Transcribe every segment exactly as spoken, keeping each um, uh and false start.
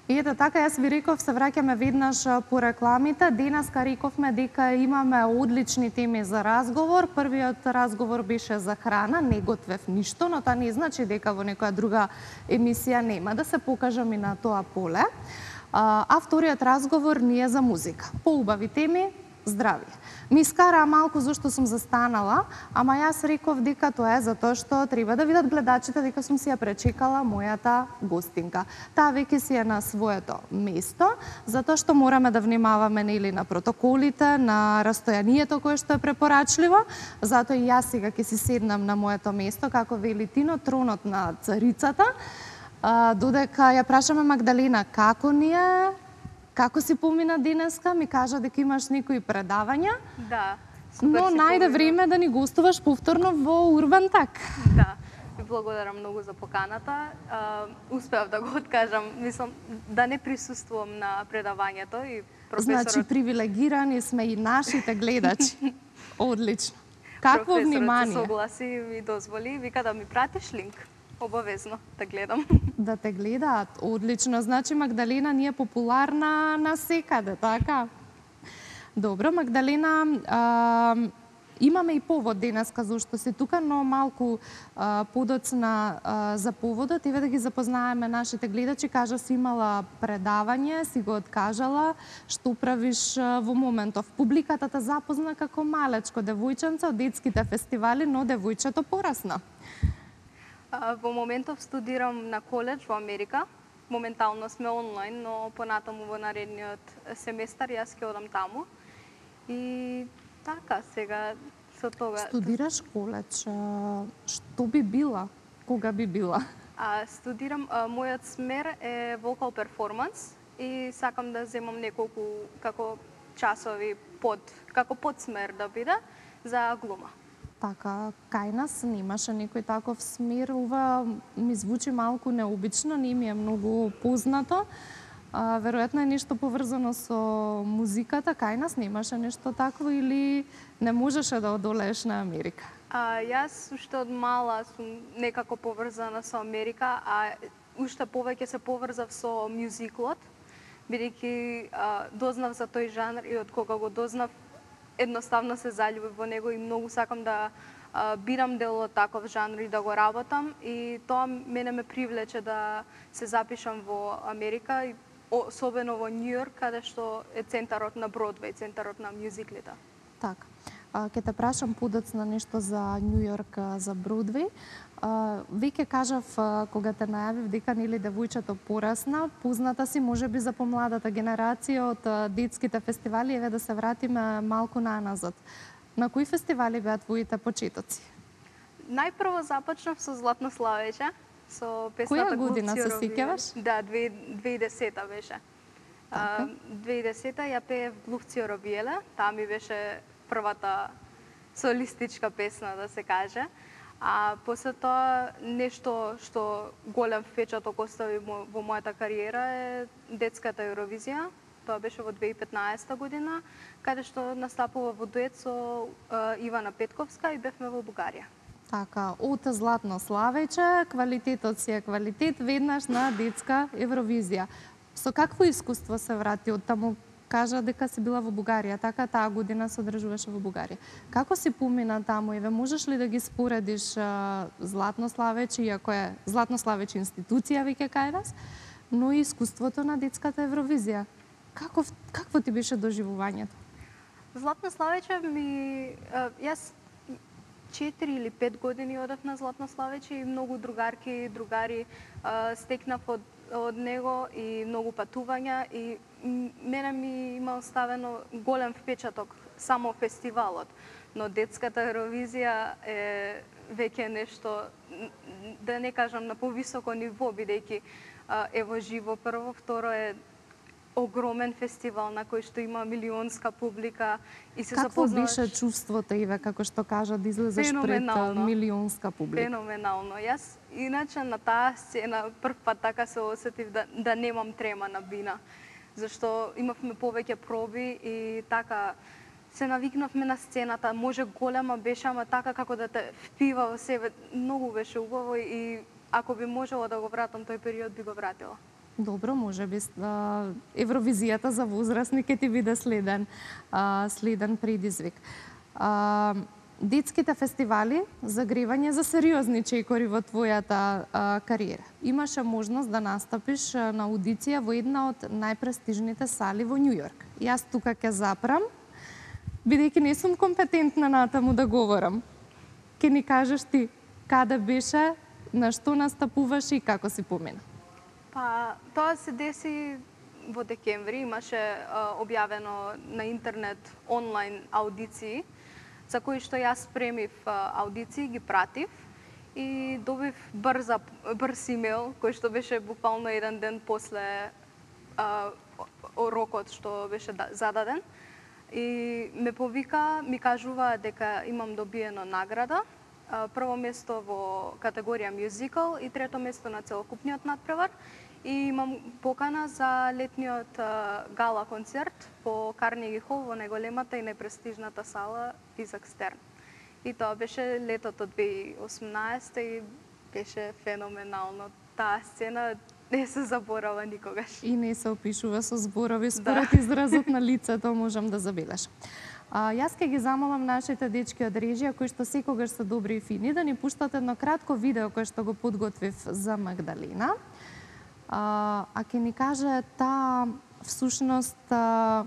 И ето така, јас ви реков, се враќаме веднаш по рекламите. Денеска рековме дека имаме одлични теми за разговор. Првиот разговор беше за храна, не готвев ништо, но тоа не значи дека во некоја друга емисија нема да се покажам и на тоа поле. А вториот разговор ни е за музика. Поубави теми, здравје. Ми скараа малку зашто сум застанала, ама јас реков дека тоа е затоа што треба да видат гледачите дека сум си ја пречекала мојата гостинка. Таа веќе си е на своето место, затоа што мораме да внимаваме нели на протоколите, на растојанието кое што е препорачливо. Затоа и јас сега ќе си седнам на моето место, како вели Тино, тронот на царицата. Додека ја прашаме Магдалина како ни е, како си помина денеска, ми кажа дека имаш некои предавања. Да. Но најде време да ни гостуваш повторно во Урбан Так. Да. Ви благодарам многу за поканата. Успеав да го откажам, мислам да не присуствувам на предавањето и професорот. Значи привилегирани сме и нашите гледачи. Одлично. Какво внимание. Професорот се согласи и ми дозволи, вика да ми пратиш линк. Обавезно да гледам. Да те гледаат. Одлично. Значи Магдалина ни е популарна насекаде, така? Добро, Магдалина, а, имаме и повод денеска зашто си тука, но малку а, подоцна а, за поводот. Еве да ги запознаеме нашите гледачи. Кажа си имала предавање, си го откажала. Што правиш а, во моментов? Публиката те запозна како малечко девојченце од детските фестивали, но девојчето порасна. Во моментов студирам на коледж во Америка. Моментално сме онлайн, но понатаму во наредниот семестар јас ќе одам таму. И така, сега со тога... Студираш коледж. Што би била? Кога би била? А, студирам, а, мојот смер е vocal performance и сакам да земам неколку како часови под, како подсмер да биде за глума. Така, кај нас немаше некој таков смер. Ова ми звучи малку необично, не ми е многу познато. А, веројатно е нешто поврзано со музиката. Кај нас немаше нешто такво или не можеше да одолееш на Америка? А, јас уште од мала сум некако поврзана со Америка, а уште повеќе се поврзав со мюзиклот, бидејќи дознав за тој жанр и од кога го дознав едноставно се заљубив во него и многу сакам да а, бирам дел од таков жанр и да го работам, и тоа мене ме привлече да се запишам во Америка и особено во Њу Јорк, каде што е центарот на Бродвеј, центарот на мюзиклите. Така. Ке те прашам подоцна нешто за Њу Јорк, за Бродвеј. Веќе кажав кога те најавив дека нели девојчето порасна, позната си можеби за помладата генерација од детските фестивали, еве да се вратиме малку наназад. На кои фестивали беа твоите почетоци? Најпрво започнав со Златно славеќе, со песната Која година се сеќаваш? Да, две тисячи и десета беше. Така. две тисячи и десета ја пеев Глухци Робиеле, таа ми беше првата солистичка песна, да се каже. А после тоа нешто што голем впечаток остави во мојата кариера е детската Евровизија. Тоа беше во две тисячи и петнаесета година, каде што настапува во дует со Ивана Петковска и бевме во Бугарија. Така, од Златно славеќе, квалитетот си е квалитет, веднаш на детска Евровизија. Со какво искуство се врати од таму? Кажа дека си била во Бугарија, така таа година се одржуваше во Бугарија. Како си помина таму? Еве, можеш ли да ги споредиш а, Златно славеќе, иако е Златно славеќе институција веќе кај нас, но и искуството на детската Евровизија? Како, какво ти беше доживувањето? Златно славеќе ми... Јас четири или пет години одев на Златно славеќе и многу другарки и другари стекнав од, од него и многу патувања, и мене ми има оставено голем впечаток само фестивалот, но детската Евровизија е веќе нешто, да не кажам на повисоко ниво, бидејќи е во живо прво, второ е огромен фестивал на кој што има милионска публика и се Какво запознаваш... беше чувството, Иве, како што кажа, да излезеш пред милионска публика? Феноменално. Јас иначе на таа сцена прв пат така се осетив да, да немам трема на бина, зашто имавме повеќе проби и така се навикнавме на сцената. Може голема беше, ама така како да те впива во себе. Многу беше убаво и ако би можела да го вратам тој период, би го вратила. Добро, може би Евровизијата за возрастни ќе ти биде следен, а, следен предизвик. А, детските фестивали за гревање за сериозни чекори во твојата а, кариера. Имаше можност да настапиш на аудиција во една од најпрестижните сали во Њу Јорк. Јас тука ќе запрам, бидејќи не сум компетентна натаму да говорам. Ке ни кажеш ти каде беше, на што настапуваше и како си помина? Па, тоа се деси во декември, имаше а, објавено на интернет онлайн аудиции, за кои што јас премив а, аудиции, ги пратив и добив брза, брз имейл, кој што беше буквално еден ден после а, рокот што беше зададен. И ме повика, ми кажува дека имам добиено награда, прво место во категорија мюзикал и трето место на целокупниот натпревар. И имам покана за летниот гала концерт по Карнеги хол во најголемата и најпрестижната сала Изак Стерн. И тоа беше летото две илјади и осумнаесета и беше феноменално. Таа сцена не се заборава никогаш. И не се опишува со зборови, според да. изразот на лицето можам да забележам. А, јас ќе ги замолам нашите дечки од режија, кои што секогаш се добри и фини, да ни пуштат едно кратко видео кое што го подготвив за Магдалина. А, а ќе ни каже таа всушност а,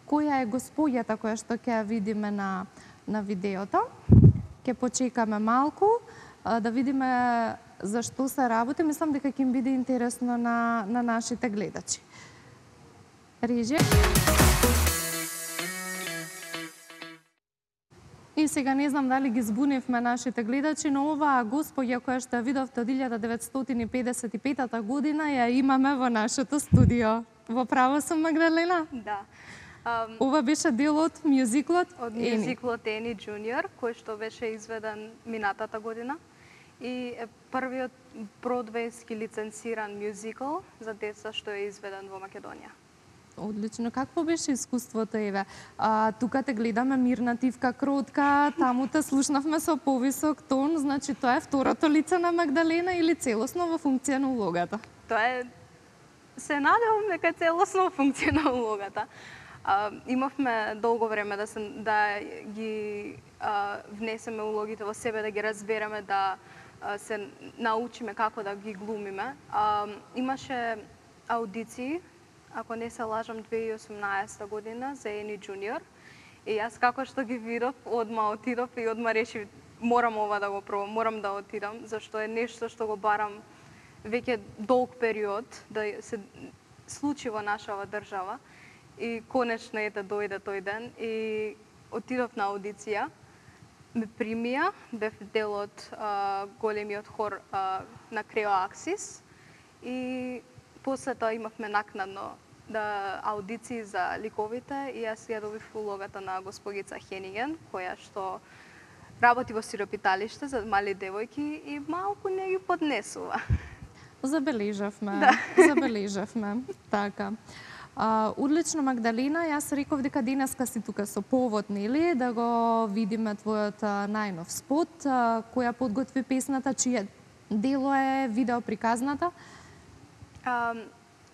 која е господјата која што ќе ја видиме на, на видеото. Ќе почекаме малку а, да видиме за што се работи. Мислам дека ќе им биде интересно на, на нашите гледачи. Режија. И сега не знам дали ги збунивме нашите гледачи, но оваа господја која што ја видовте од илјада деветстотини педесет и петата година ја имаме во нашето студио. Во право сум, Магдалина? Да. Um, Ова беше дел од мюзиклот од мюзиклот Ени Джуниор, кој што беше изведен минатата година и е првиот бродвејски лицензиран мюзикл за деца што е изведен во Македонија. Одлично. Какво беше искуството, Еве? А, тука те гледаме мирна, тивка, кротка, таму те слушнавме со повисок тон, значи тоа е второто лице на Магдалина или целосно во функција на улогата? Тоа е, се надевам дека е целосно во функција на улогата. А, имавме долго време да, се, да ги а, внесеме улогите во себе, да ги разбереме, да а, се научиме како да ги глумиме. А, имаше аудиции, ако не се лажам, две илјади и осумнаесета година за Ени Джуниор. И јас како што ги видов, одма отидов и одма решив, морам ова да го пробам, морам да отидам, зашто е нешто што го барам веќе долг период да се случи во нашава држава. И конечно е да дојде тој ден и отидов на аудиција, ме примија, бев дел од а, големиот хор а, на Крео Аксис и после тоа имавме накнадно да аудиции за ликовите и јас ја добив улогата на госпогица Хениген, која што работи во сиропиталиште за мали девојки и малку не ги поднесува. Забележавме, да. забележавме, така. А, одлично, Магдалина, јас реков дека денеска си тука со повод, нели, да го видиме твојот најнов спот, а, која подготви песната, чие дело е видео приказната? А,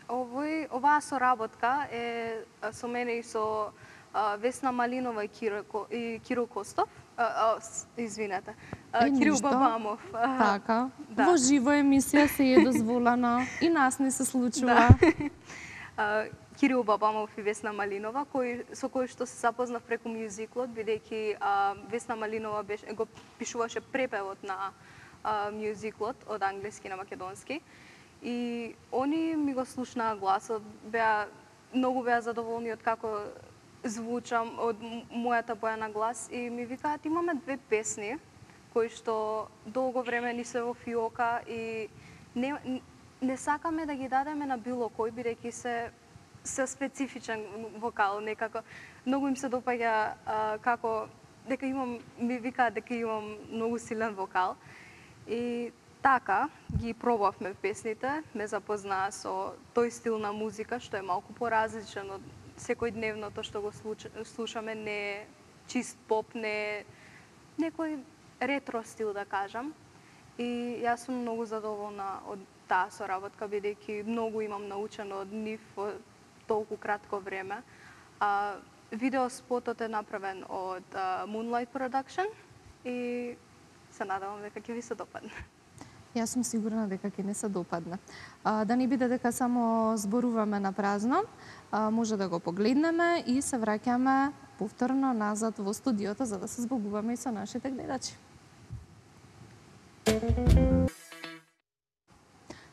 овој, оваа соработка е со мене и со а, Весна Малинова и Киро, и Киро Костов, а, а, извинете, а, Кирил Бабамов. А, така, да. Во живо емисија се е дозволено и нас не се случува. Да. а, Кирил Бабамов и Весна Малинова, кој, со кој што се запознав преку мюзиклот, бидејќи Весна Малинова беше, го пишуваше препевот на а, мюзиклот од англиски на македонски. И они ми го слушнаа гласот, беа многу беа задоволни од како звучам, од мојата боја на глас и ми викаат имаме две песни кои што долго време ни се во фиока и не, не сакаме да ги дадеме на било кој, бидејќи се се специфичен вокал, некако многу им се допаѓа а, како дека имам, ми викаат дека имам многу силен вокал и така ги пробавме песните, ме запознаа со тој стил на музика што е малку поразличен од секојдневното што го слушаме, не е чист поп, не е некој ретро стил да кажам. И јас сум многу задоволна од таа соработка, бидејќи многу имам научено од нив во толку кратко време. А, видеоспотот е направен од а, Moonlight Production и се надевам дека ќе ви се допадне. Јас сум сигурна дека ќе не се допадне. А, да не биде дека само зборуваме на празно, а, може да го погледнеме и се враќаме повторно назад во студиото за да се збогуваме и со нашите гледачи.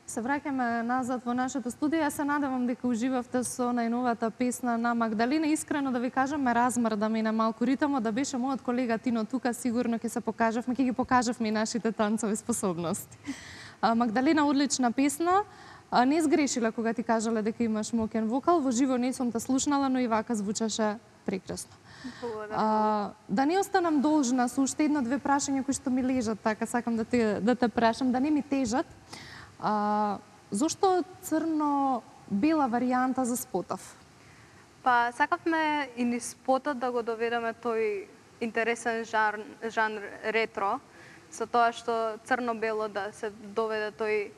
Се враќаме назад во нашето студио. Јас се надевам дека уживавте со најновата песна на Магдалина. Искрено да ви кажам, ме размрда ми на малку ритмот, да беше мојот колега Тино тука, сигурно ќе се покажавме, ќе ги покажавме и нашите танцови способности. А, Магдалина, одлична песна. А, не сгрешила кога ти кажале дека имаш моќен вокал. Во живо не сум те слушнала, но и вака звучаше прекрасно. А, да не останам должна со уште едно-две прашања кои што ми лежат, така сакам да те, да те прашам, да не ми тежат. А, зошто црно-бела варијанта за спотов? Па, сакавме и низ спотот да го доведеме тој интересен жар, жанр ретро, со тоа што црно-бело да се доведе тој.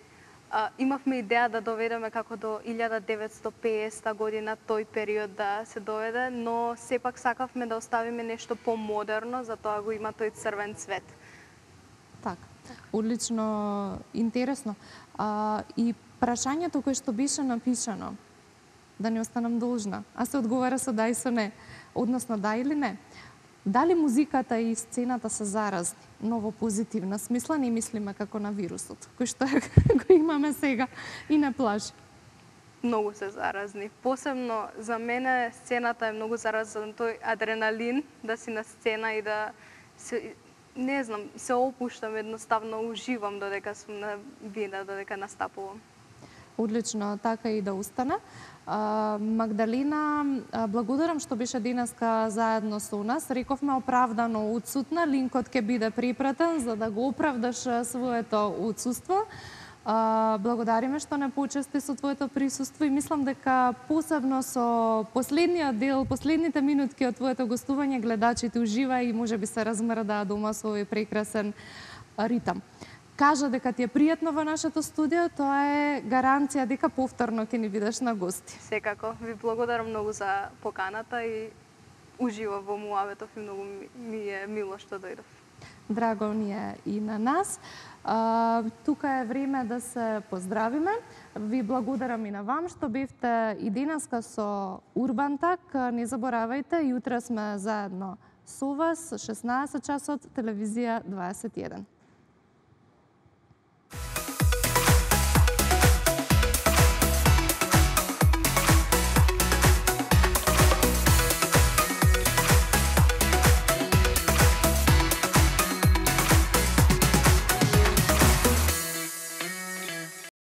А, имавме идеја да доведеме како до илјада деветстотини и песета година тој период да се доведе, но сепак сакавме да оставиме нешто помодерно, затоа го има тој црвен цвет. Така. Одлично, интересно. А, и прашањето кое што беше напишано, да не останам должна, а се одговара со да и со не, односно да или не. Дали музиката и сцената се заразни, но во позитивна смисла, не мислиме како на вирусот, кој што го имаме сега и не плаши? Многу се заразни. Посебно за мене сцената е многу заразен, тој адреналин, да си на сцена и да се, не знам, се опуштам едноставно, уживам додека сум на вина, додека настапувам. Одлично, така и да остане. А, Магдалина, благодарам што беше денеска заедно со нас. Рековме оправдано отсутна, линкот ќе биде припратен за да го оправдаш своето отсуство. А, благодариме што не почести со твоето присуство и мислам дека посебно со последниот дел, последните минутки од твоето гостување, гледачите ужива и можеби се размрдаа дома со овој прекрасен ритам. Кажа дека ти е пријатно во нашето студио, тоа е гаранција дека повторно ќе ни бидеш на гости. Секако, ви благодарам многу за поканата и уживав во муабетов и многу ми е мило што дојдов. Драго ни е и на нас. А, тука е време да се поздравиме. Ви благодарам и на вам што бевте и денеска со Урбантак. Не заборавајте, јутре сме заедно со вас, шеснаесет часот, телевизија дваесет и еден.